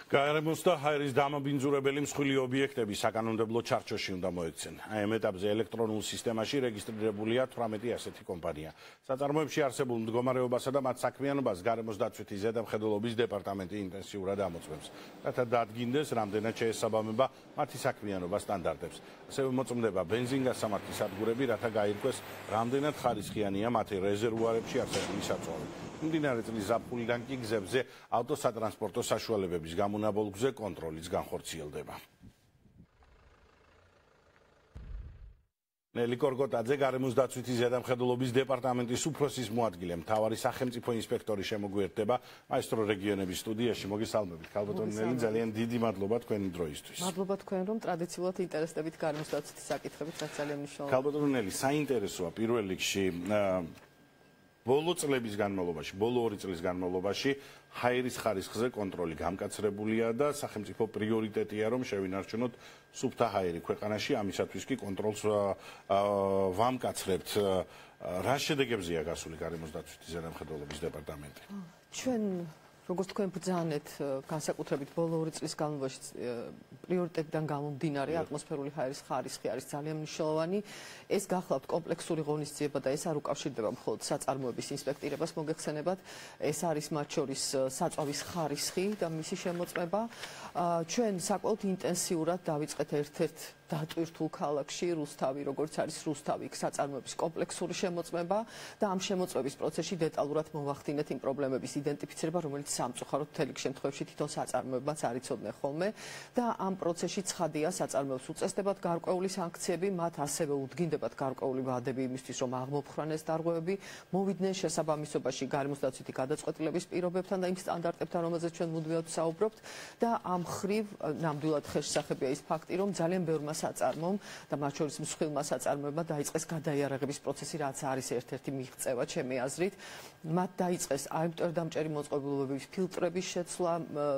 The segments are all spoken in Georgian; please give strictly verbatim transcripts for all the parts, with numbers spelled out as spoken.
გაერემოს და ჰაერის დამაბინძურებელი მსხვილი ობიექტები საკანონმდებლო ჩარჩოში უნდა მოექცენ. აი ამ ეტაპზე ელექტრონულ სისტემაში რეგისტრირებულია თვრამეტი ასეთი კომპანია. საწარმოებში არსებულ მდგომარეობასა და მათ საქმიანობას გაერემოს დაცვითი ზედამხედველობის დეპარტამენტი ინტენსიურად ამოწმებს, რათა დადგინდეს, რამდენად შეესაბამება მათი საქმიანობა სტანდარტებს. ასევე მოწმდება ბენზინგასამართი სადგურები, რათა გაირკვეს, რამდენად ხარისხიანია მათი რეზერვუარებში არსებული საწვავი. მიმდინარე წლის ზაფხულიდან კი გზებზე ავტოსატრანსპორტო საშუალებების გამონაბოლქვზე კონტროლიც განხორციელდება. ნელი კორგოტაძე, გარემოს დაცვითი ზედამხედველობის დეპარტამენტის უფროსის მოადგილე, მთავარი სახელმწიფო ინსპექტორი შემოგვიერთდება მაესტრო რეგიონების სტუდიაში. მოგესალმებით, ქალბატონი ნელი, ძალიან დიდი მადლობა თქვენი დროისთვის. მადლობა თქვენ, რომ ტრადიციულად ინტერესდებით გარემოს დაცვითი საკითხებით, რაც ძალიან მნიშვნელოვანია. ქალბატონი ნელი, საინტერესოა პირველ რიგში ბოლო წლების განმავლობაში, ბოლო ორი წლის განმავლობაში ჰაერის ხარისხზე კონტროლი გამკაცრებულია და სახელმწიფო პრიორიტეტია, რომ შევინარჩუნოთ სუფთა ჰაერი ქვეყანაში, ამისათვის კი კონტროლს ვამკაცრებთ. რა შედეგებზეა გასული გარემოს დაცვითი ზედამხედველობის დეპარტამენტი? ჩვენ როგორც თქვენ ბრძანეთ, განსაკუთრებით ბოლო ორი წლის განმავლობაში პრიორიტეტიდან გამომდინარე ატმოსფერული ჰაერის ხარისხი არის ძალიან მნიშვნელოვანი. ეს გახლავთ კომპლექსური ღონისძიება და ეს არ უკავშირდება მხოლოდ საწარმოების ინსპექტირებას მოგეხსენებათ, ეს არის მათ შორის საწვავის ხარისხი და მისი შემოწმება. ჩვენ საკმაოდ ინტენსიურად დავიწყეთ ერთ-ერთ დატვირთულ ქალაქში რუსთავი, როგორც არის რუსთავი, იქ საწარმოების კომპლექსური შემოწმება და ამ შემოწმების პროცესში დეტალურად მოვახდინეთ იმ პრობლემების იდენტიფიცირება, რომელიც სამწუხაროდ მთელი შემთხვევაში თვითონ საწარმოებაც არ იცოდნენ ხოლმე და ამ პროცესში ცხადია საწარმოებს უწესდებათ გარკვეული სანქციები, მათ ასევე უდგინდებათ გარკვეული ვადები იმისთვის, რომ აღმოფხრანეს დარღვევები, მოვიდნენ შესაბამისობაში გარემოს დაცვითი გადაწყვეტილების პირობებთან და იმ სტანდარტებთან, რომელზეც ჩვენ მუდმივად ვსაუბრობთ და ამ მხრივ ნამდვილად ხელშესახებია ის ფაქტი, რომ ძალიან ბევრმა საწარმომ და მათ შორის მსხვილმა საწარმოებმა დაიწყეს გადაიარაღების პროცესი, რაც არის ერთ-ერთი მიღწევა ჩემი აზრით. მათ დაიწყეს აიმტვერდამჭერი მოწყობილობების ფილტრების შეცვლა,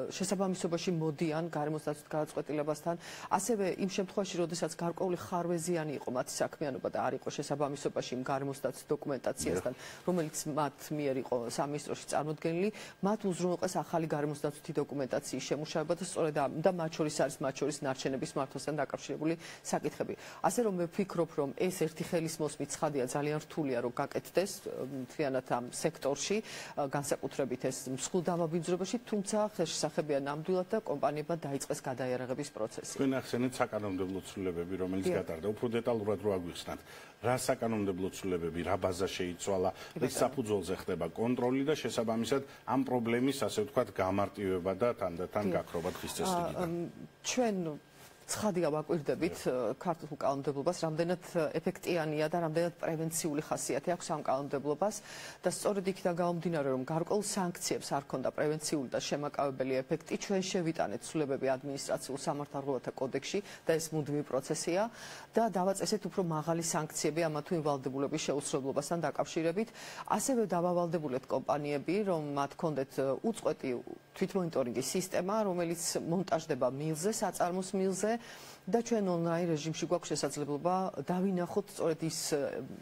შესაბამისობაში მოდიან გარემოს დაცვით გადაწყვეტილებასთან, ასევე იმ შემთხვევაში, როდესაც გარკვეული ხარვეზიანი იყო მათი საქმიანობა და არ იყო შესაბამისობაში იმ გარემოს დაცვის დოკუმენტაციასთან, რომელიც მათ მიერ იყო სამინისტროში წარმოდგენილი, მათ უზრუნველყეს ახალი გარემოს დაცვითი დოკუმენტაციის შემუშავება და სწორედ და მათ შორის არის მათ შორის ნარჩენების მართვასთან დაკავშირებული საკითხები. ასე რომ მე ვფიქრობ, რომ ეს ერთი ხელის მოსმით ცხადია ძალიან რთულია, რომ გაკეთდეს მთლიანად ამ სექტორში, განსაკუთრებით ეს მსხვილ დამაბინძურებაში, თუმცა ხელშესახებია ნამდვილად და კომპანიებმა დაიწყეს გადაიარაღების პროცესი. თქვენ ახსენეთ საკანონმდებლო ცვლილებები, რომელიც გატარდა. უფრო დეტალურად რო აგვიხსნათ, რა საკანონმდებლო ცვლილებები, რა ბაზა შეიცვალა, რის საფუძველზე ხდება კონტროლი და შესაბამისად ამ პრობლემის, ასე ვთქვათ, გამარტივება და თანდათან გაქრობა დღის წესრიგიდან. ჩვენ ცხადია ვაკვირდებით ქართულ კანონმდებლობას, რამდენად ეფექტიანია და რამდენად პრევენციული ხასიათი აქვს ამ კანონმდებლობას და სწორედ იქიდან გამომდინარე, რომ გარკვეულ სანქციებს არ ქონდა პრევენციული და შემაკავებელი ეფექტი, ჩვენ შევიტანეთ ცვლილებები ადმინისტრაციულ სამართალდამცავთა კოდექსში და ეს მუდმივი პროცესია და დავაწესეთ უფრო მაღალი სანქციები ამა თუ იმ ვალდებულების შეუსრულებლობასთან დაკავშირებით. ასევე დავავალდებულეთ კომპანიები, რომ მათ ქონდეთ უწყვეტი თვითმონიტორინგის სისტემა, რომელიც მონტაჟდება მილზე, საწარმოს მილზე და ჩვენ ონლაინ რეჟიმში გვაქვს შესაძლებლობა დავინახოთ სწორედ ის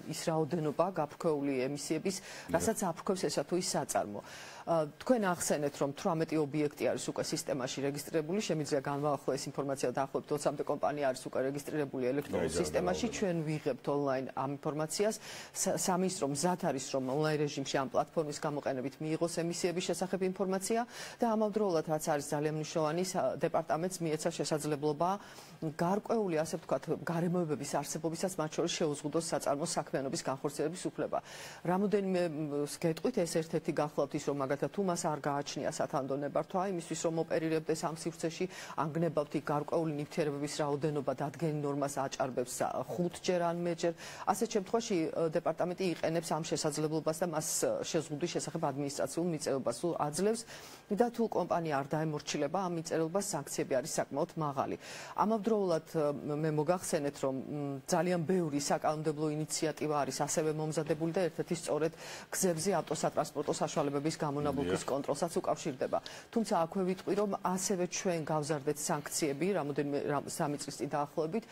ის რაოდენობა გაფრქვეული ემისიების, რასაც აფრქვევს ესა თუ ის საწარმო. თქვენ ახსენეთ, რომ თვრამეტი ობიექტი არის უკვე სისტემაში რეგისტრირებული, შემიძლია განვაახლო ეს ინფორმაცია დაახლოებით ოცამდე კომპანია არის უკვე რეგისტრირებული ელექტრონულ სისტემაში, ჩვენ ვიღებთ ონლაინ ამ ინფორმაციას, სამინისტრო მზად არის, რომ ონლაინ რეჟიმში ამ პლატფორმის გამოყენებით მიიღოს ემისიების შესახებ ინფორმაცია და ამავდროულად, რაც არის ძალიან მნიშვნელოვანი, დეპარტამენტს მიეცა შესაძლებლობა გარკვეული, ასე ვთქვათ, გარემოებების არსებობისაც მათ შორის შეუზღუდოს საწარმოს საქმიანობის განხორციელების უფლება. რამოდენიმე გეტყვით, ეს ერთ-ერთი გახლავთ ის, რომ მაგალითად თუ მას არ გააჩნია სათანდო ნებართვა, იმისთვის რომ ოპერირებდეს ამ სივრცეში, ანგნებავთ იქ გარკვეული ნივთიერებების რაოდენობა დადგენილ ნორმას აჭარბებს ხუთჯერ ან მეჯერ. ასეთ შემთხვევაში დეპარტამენტი იყენებს ამ შესაძლებლობას და მას შეზღუდვის შესახებ ადმინისტრაციულ მიწევებას აძლევს და თუ კომპანია არ დაემორჩილება ამ მიწევებას, სანქციები არის საკმაოდ მაღალი. ამავდროულად ამავდროულად მე მოგახსენეთ, რომ ძალიან ბევრი საკანონმდებლო ინიციატივა არის ასევე მომზადებული და ერთ-ერთი სწორედ გზებზე ავტოსატრანსპორტო საშუალებების გამონაბოლქვის კონტროლსაც უკავშირდება. თუმცა აქვე ვიტყვი, რომ ასევე ჩვენ გავზარდეთ სანქციები, რამოდენიმე სამი წლის წინ დაახლოებით,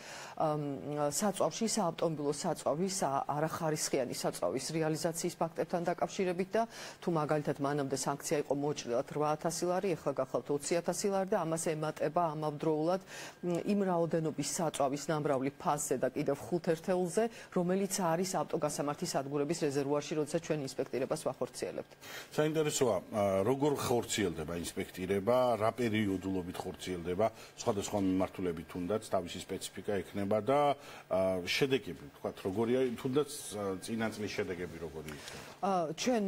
საწვავში, საავტომობილო საწვავის, არახარისხიანი საწვავის რეალიზაციის ფაქტებთან დაკავშირებით და თუ მაგალითად მანამდე სანქცია იყო მოუჭრელად რვა ათასი ლარი, ეხლა გახლავთ ოცი ათასი ლარი და ამას ემატება ამავდროულად იმ რაოდენობის საწვავის ნამრავლი ფასზე და კიდევ ხუთ ერთეულზე, რომელიც არის ავტოგასამართის სადგურების რეზერვუარში, როდესაც ჩვენ ინსპექტირებას ვახორციელებთ. საინტერესოა, როგორ ხორციელდება ინსპექტირება, რა პერიოდულობით ხორციელდება, სხვადასხვა მიმართულებით თუნდაც თავისი სპეციფიკა ექნება და შედეგები, ვთქვათ, როგორია, თუნდაც წინა წლის შედეგები როგორი იქნება? ჩვენ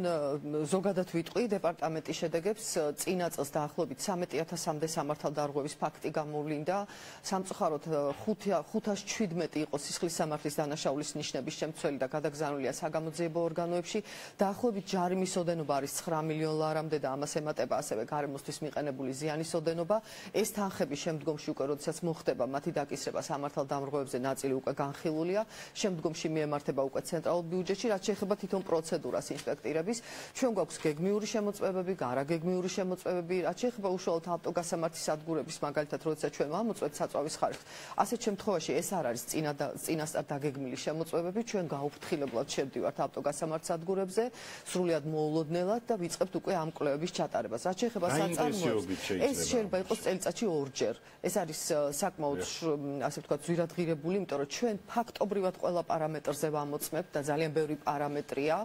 ზოგადად ვიტყვი დეპარტამენტის შედეგებს წინა წელს დაახლოებით სამეტი ათასამდე სამართალდარღვევის ფაქტი გამოვლინდა. სამწუხაროდ ხუთას ჩვიდმეტი იყო სისხლის სამართლის დანაშაულის ნიშნების შემცველი და გადაგზავნილია საგამოძიებო ორგანოებში. დაახლოებით ჯარიმის ოდენობა არის ცხრა მილიონ ლარამდე და ამას ემატება ასევე გარემოსთვის მიყენებული ზიანის ოდენობა. ეს თანხები შემდგომში უკვე როდესაც მოხდება მათი დაკისრება სამართალდამრღვევებზე ნაწილი უკვე განხილულია. შემდგომში მიემართება უკვე ცენტრალურ ბიუჯეტში, რაც შეეხება თვითონ პროცედურას ინსპექტირების. ჩვენ გვაქვს გეგმიური შემოწმებები, გარაგეგმიური შემოწმებები, რაც შეეხება უშუალოდ ავტოგასამართის სადგურების, მაგალითად, როდესაც ჩვენ ვამოწმებთ საწვავის ხარჯს. ასეთ შემთხვევაში ეს არ არის წინასწარ დაგეგმილი შემოწმებები, ჩვენ გაუფრთხილებლად შევდივართ ავტოგასამართ სადგურებზე, სრულიად მოულოდნელად და ვიწყებთ უკვე ამ კვლევების ჩატარებას. რაც შეეხება საწარმოებს, ეს შეიძლება იყოს წელიწადში ორჯერ. ეს არის საკმაოდ, ასე ვთქვათ, ზვირადღირებული, იმიტომ რომ ჩვენ ფაქტობრივად ყველა პარამეტრზე ვამოწმებთ და ძალიან ბევრი პარამეტრია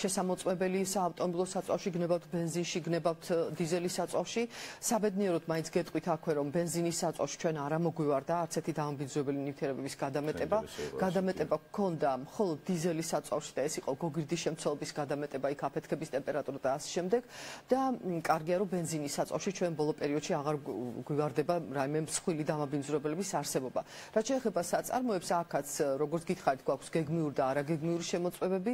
შესამოწმებელი საავტომობილო საწვავში, გნებავთ ბენზინში, გნებავთ დიზელის საწვავში. საბედნიეროდ მაინც გეტყვით აქვე, რომ ბენზინის საწვავში ჩვენ არ ამოგვივარდა არც ერთი დამამბინძურებელი ნივთიერებების გადამეტება. გადამეტება გქონდა მხოლოდ დიზელის საწვავში და ეს იყო გოგირდის შემცველობის გადამეტება, იქ აფეთქების ტემპერატურა და ასე შემდეგ. და კარგია, რომ ბენზინის საწვავში ჩვენ ბოლო პერიოდში აღარ გვივარდება რაიმე მსხვილი დამაბინძურებელების არსებობა. რაც შეეხება საწარმოებს, აქაც როგორც გითხარით, გვაქვს გეგმიური და არაგეგმიური შემოწმებები.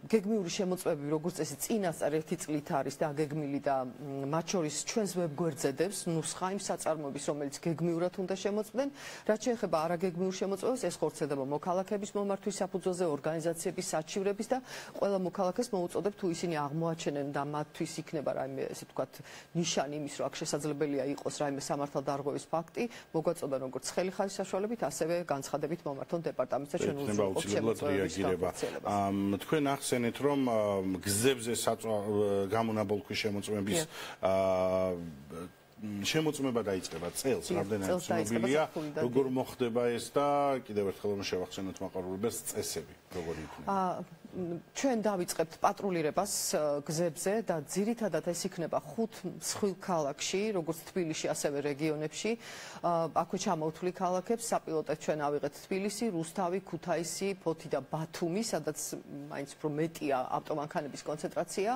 გეგმიური შემოწმებები, როგორც წესი, წინასწარ ერთი წლით არის დაგეგმილი და მათ შორის ჩვენს ვებგვერდზედებს ნუსხა იმ საწარმოების, რომელიც გეგმიურად უნდა შემოწმდნენ. რაც შეეხება არაგეგმიურ შემოწმებას, ეს ხორციელდება მოქალაქეების მომართვის საფუძველზე, ორგანიზაციების, საჩივრების და ყველა მოქალაქეს მოუწოდებ, თუ ისინი აღმოაჩენენ და მათთვის იქნება რაიმე, ესე ვთქვათ, ნიშანი იმის, რომ აქ შესაძლებელია იყოს რაიმე სამართალდარღვევის ფაქტი, მოგვაწოდან როგორც ცხელი ხალის საშუალებით, ასევე განცხადებით მომართონ დეპარტამენტს და ჩვენ უზრუნველყოფთ შემოწმებების განხორციელებას. თქვენ ახსენეთ, რომ გზებზე გამონაბოლქვის შემოწმების შემოწმება დაიწყება წელს, რამდენად ცნობილია, როგორ მოხდება ეს და კიდევ ერთხელ რომ შევახსენოთ მაყურებელს წესები, როგორი იქნება? ჩვენ დავიწყებთ პატრულირებას გზებზე და ძირითადად ეს იქნება ხუთ მსხვილ ქალაქში, როგორც თბილისში, ასევე რეგიონებში. აქვე ჩამოვთვლი ქალაქებს, საპილოტად ჩვენ ავიღეთ თბილისი, რუსთავი, ქუთაისი, ფოთი და ბათუმი, სადაც მაინც უფრო მეტია ავტომანქანების კონცენტრაცია.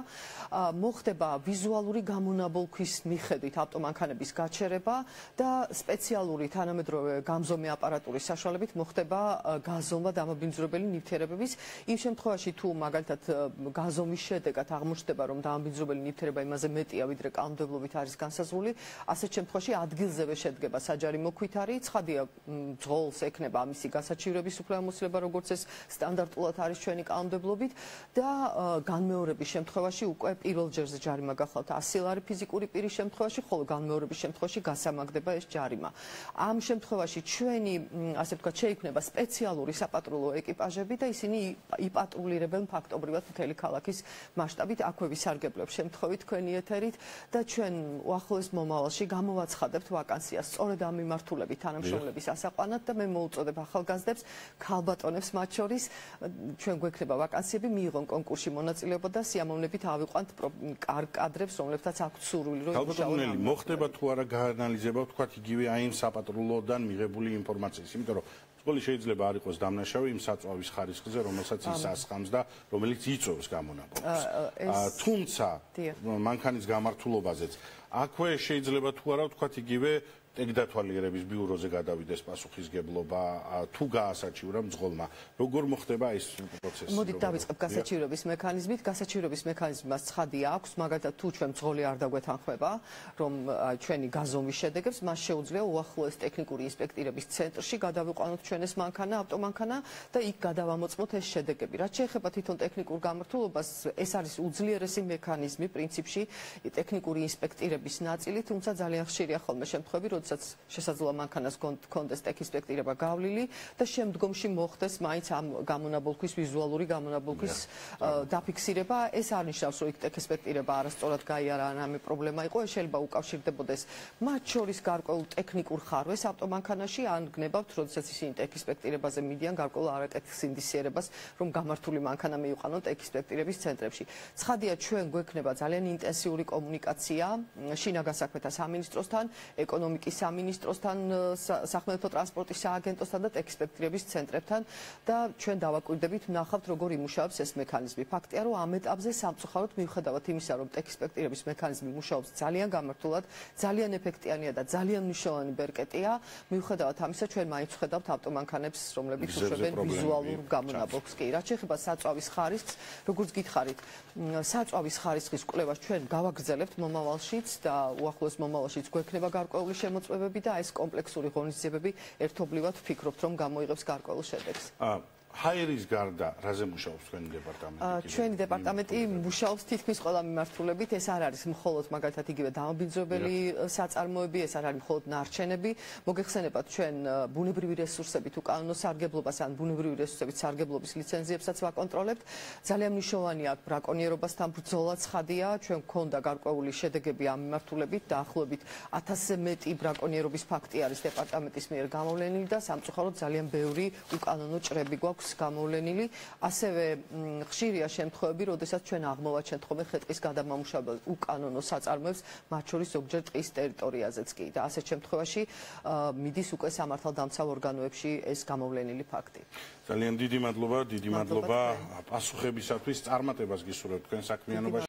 მოხდება ვიზუალური გამონაბოლქვის მიხედვით ავტომანქანების გაჩერება და სპეციალური თანამედროვე გამზომი აპარატურის საშუალებით მოხდება გაზომვა დამაბინძურებელი ნივთიერებების. იმ შემთხვევაში თუ მაგალითად გაზომვის შედეგად აღმოჩნდება, რომ დამაბინძურებელი ნივთიერება იმაზე მეტია, ვიდრე კანონმდებლობით არის განსაზღვრული, ასეთ შემთხვევაში ადგილზევე შედგება საჯარიმო ქვითარი, ცხადია ძღოლს ექნება ამისი გასაჩივრების უფლებამოსილება, როგორც ეს სტანდარტულად არის ჩვენი კანონმდებლობით და განმეორების შემთხვევაში უკვე პირველ ჯერზე ჯარიმა გახლავთ ასი ლარი ფიზიკური პირის შემთხვევაში, ხოლო განმეორების შემთხვევაში გასამაგდება ეს ჯარიმა. ამ შემთხვევაში ჩვენი, ასე ვთქვათ, შეიქმნება სპეციალური საპატრულო ეკიპაჟები და ისინი იპატრულირებენ ფაქტობრივად მთელი ქალაქის მასშტაბით. აქვე ვისარგებლებ შემთხვევით თქვენი ეთერით და ჩვენ უახლოეს მომავალში გამოვაცხადებთ ვაკანსიას სწორედ ამ მიმართულებით თანამშრომლების ასაყვანად და მე მოუწოდებ ახალგაზრდებს, ქალბატონებს მათ შორის, ჩვენ გვექნება ვაკანსიები, მიიღონ კონკურსში მონაწილეობა და სიამოვნებით ავიყვანთ კარგ კადრებს, რომლებთაც აქვთ სურვილი, რომ ქალბატონელი მოხდება თუ არა გაანალიზება, ვთქვათ, იგივე აი იმ საპატრულოდან მიღებული ინფორმაციის, იმიტომ რომ სკოლის შეიძლება არ იყოს დამნაშავე იმ საწვავის ხარისხზე, რომელსაც ის ასხამს და რომელიც იწვევს გამონაბოლქვას. თუმცა მანქანის გამართულობაზეც აქვე შეიძლება თუ არა ვთქვათ იგივე ტექდათვალიერების ბიუროზე გადავიდეს პასუხისგებლობა თუ გაასაჩივრა მძღოლმა. როგორ მოხდება ეს პროცესი? მოდით დავიწყებ გასაჩივრების მექანიზმით. გასაჩივრების მექანიზმი მას ცხადი აქვს, მაგალითად თუ ჩვენ მძღოლი არ დაგვეთანხმება, რომ ჩვენი გაზომვის შედეგებს, მას შეუძლია უახლოეს ტექნიკური ინსპექტირების ცენტრში გადავიყვანოთ ჩვენ ეს მანქანა, ავტომანქანა და იქ გადავამოწმოთ ეს შედეგები. რაც შეეხება თვითონ ტექნიკურ გამართულებას, ეს არის უძლიერესი მექანიზმი პრინციპში ტექნიკური ინსპექტირების ნაწილი, თუმცა ძალიან ხშირია ხოლმე შემთხვევები, როდესაც შესაძლოა მანქანას კონდეს ტექინსპექტირება გავლილი და შემდგომში მოხდეს მაინც ამ გამონაბოლქვის ვიზუალური გამონაბოლქვის დაფიქსირება. ეს არ ნიშნავს, რომ იქ ტექინსპექტირება არასწორად გაიარა ან ამი პრობლემა იყო, ეს შეიძლება უკავშირდებოდეს მათ შორის გარკვეულ ტექნიკურ ხარვეს ავტომანქანაში, ან გნებავთ, როდესაც ისინი ტექინსპექტირებაზე მიდიან გარკვეულ არაკეთის ინდისიერებას, რომ გამართული მანქანა მიიყვანონ ტექინსპექტირების ცენტრებში. ცხადია, ჩვენ გვექნება ძალიან ინტენსიური კომუნიკაცია შინაგან საქმეთა სამინისტროსთან, ეკონომიკის სამინისტროსთან, სახმელეთო ტრანსპორტის სააგენტოსთან და ტექინსპექტირების ცენტრებთან და ჩვენ დავაკვირდებით, ვნახავთ, როგორ იმუშავებს ეს მექანიზმი. ფაქტია, რომ ამ ეტაპზე სამწუხაროდ მიუხედავად იმისა, რომ ტექინსპექტირების მექანიზმი მუშაობს ძალიან გამართულად, ძალიან ეფექტიანია და ძალიან მნიშვნელოვანი ბერკეტია, მიუხედავად ამისა, ჩვენ მაინც ვხედავთ ავტომანქანებს, რომლებიც უშვებენ ვიზუალურ გამონაბოლქს. კი, რაც შეეხება საწვავის ხარისხს, როგორც გითხარით, საწვავის ხარისხის კვლევას ჩვენ გავაგრძელებთ მომავალშიც და უახლოეს მომავალშიც გვექნება გარკვეული შემოწმებები და ეს კომპლექსური ღონისძიებები ერთობლივად ვფიქრობთ, რომ გამოიღებს გარკვეულ შედეგს. ჰაერის გარდა რაზე მუშაობს თქვენი დეპარტამენტი? ჩვენი დეპარტამენტი მუშაობს თითქმის ყველა მიმართულებით. ეს არ არის მხოლოდ მაგალითად იგივე დამაბინძურებელი საწარმოები, ეს არ არის მხოლოდ ნარჩენები. მოგეხსენებათ, ჩვენ ბუნებრივი რესურსებით უკანონო სარგებლობას ან ბუნებრივი რესურსებით სარგებლობის ლიცენზიებსაც ვაკონტროლებთ. ძალიან მნიშვნელოვანია ბრაკონიერობასთან ბრძოლა ცხადია. ჩვენ გვქონდა გარკვეული შედეგები ამ მიმართულებით, დაახლოებით ათასზე მეტი ბრაკონიერობის ფაქტი არის დეპარტამენტის მიერ გამოვლენილი და სამწუხაროდ ძალიან ბევრი უკანონო ჭრები გვაქვს გამოვლენილი. ასევე ხშირია შემთხვევები, როდესაც ჩვენ აღმოვაჩენთ ხოლმე ხე-ტყის გადამამუშავებელ უკანონო საწარმოებს, მათ შორის ზოგჯერ ტყის ტერიტორიაზეც კი და ასეთ შემთხვევაში მიდის უკვე სამართალდამცავ ორგანოებში ეს გამოვლენილი ფაქტი. ძალიან დიდი მადლობა, დიდი მადლობა პასუხებისათვის, წარმატებას გისურვებთ თქვენ საქმიანობაში.